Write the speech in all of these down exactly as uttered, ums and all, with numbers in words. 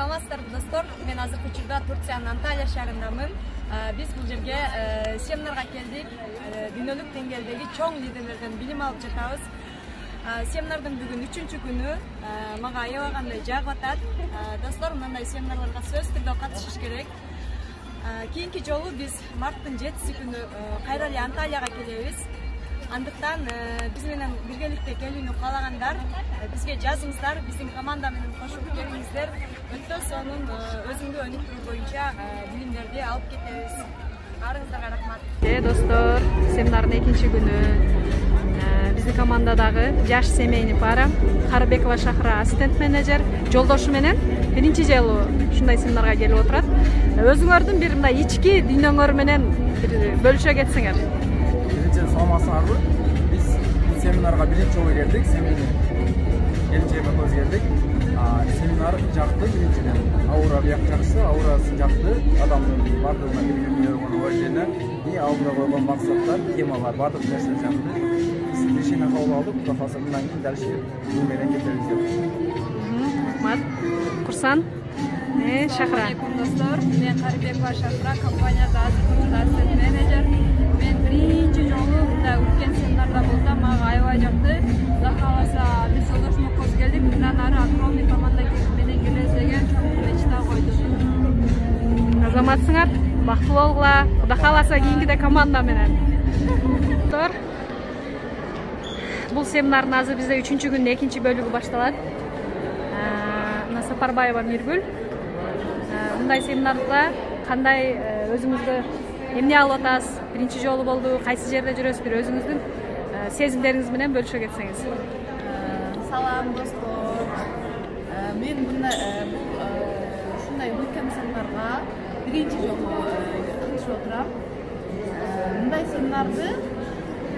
Саламатсыздарбы достор, мен азыркы учурда Турциянын Анталия шаарындамын. Биз бул жерге семинарга келдик. Дүйнөлүк деңгээлдеги чоң лидерлерден билим алып жатабыз. Семинардын бүгүн үчүнчү күнү. Мага аябагандай жагып атат. Достор, мындай семинарларга сөзсүз түрдө катышыш керек. Кийинки жолу биз марттын жетиси күнү кайра эле Анталияга келебиз. Андыктан биз менен биргеликте келүүнү каалагандар бизге жазыңыздар, биздин команда менен кошуп келиңиздер. Өтө сонун өзүңдү өнүктүрүү боюнча билимдерди алып кетебиз. Баарыңыздарга рахмат. Э достор, семинардын экинчи күнү. Биздин командадагы жаш семейный пара Карыбекова Шахра ассистент менеджер жолдошу менен биринчи жолу ушундай семинарга келип отурат. Өзүңөрдүн бир мындай ички дүйнөңөр менен бөлүшө кетсеңер. Саламатсыңарбы? Биз семинарга биринчи жолу келдик. Семейный келинчегиме көз келдик. Семинар жакты, биринчиден. Аура бияк жакшы, аурасы жакты. Адамдын бардыгына бир уважение и алдыга койгон максаттар, темалар, бардык нерсе жакты. Биз решение кабыл алдык. Кудай кааласа мындан кийин дальше бул менен кетебиз деп. Рахмат. Курсан. Э, Шахра. Достор, мен Карыбекова Шахра, компанияда азыркы ассистент менеджер. Мен биринчи жолу мындай үлкен семинарда болсам, мага аябай жакты. Кудай кааласа биз жолдошума көз келдик. Мындан ары огромный команда менен келебиз деген чоң мечта койдук. Азаматсыңар, бактылуу болгула. Кудай кааласа кийинкиде команда менен. Достор, бул семинардын азыр бизде үчүнчү күндүн экинчи бөлүгү башталат. Мына Сапарбаева Миргүл. Мындай семинарда кандай өзүңүздү эмне алып атасыз? Биринчи жолу болду, кайсы жерде жүрөсүз? Бир өзүңүздүн сезимдериңиз менен бөлүшө кетсеңиз. Салам достор. Мен мына ушундай үлкен семинарга биринчи жолу катышып отурам. Мындай семинарды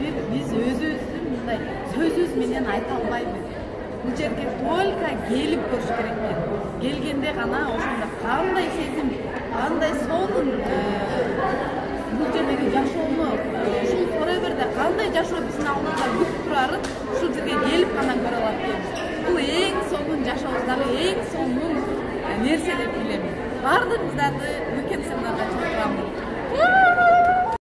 бир биз өзүбүздүн мындай сөзүбүз менен айта албайбыз. Бул жерге только келип көрүш керек. Келгенде гана ошондо кандай сезим, кандай сонун бул жердеги жашоону, ушул Forever'де кандай жашоо биздин алдыбызда күтүп турарын ушул жерге келип гана көрө алат экенбиз. Бул эң сонун жашообуздагы эң сонун нерсе деп билем. Бардыгыңыздарды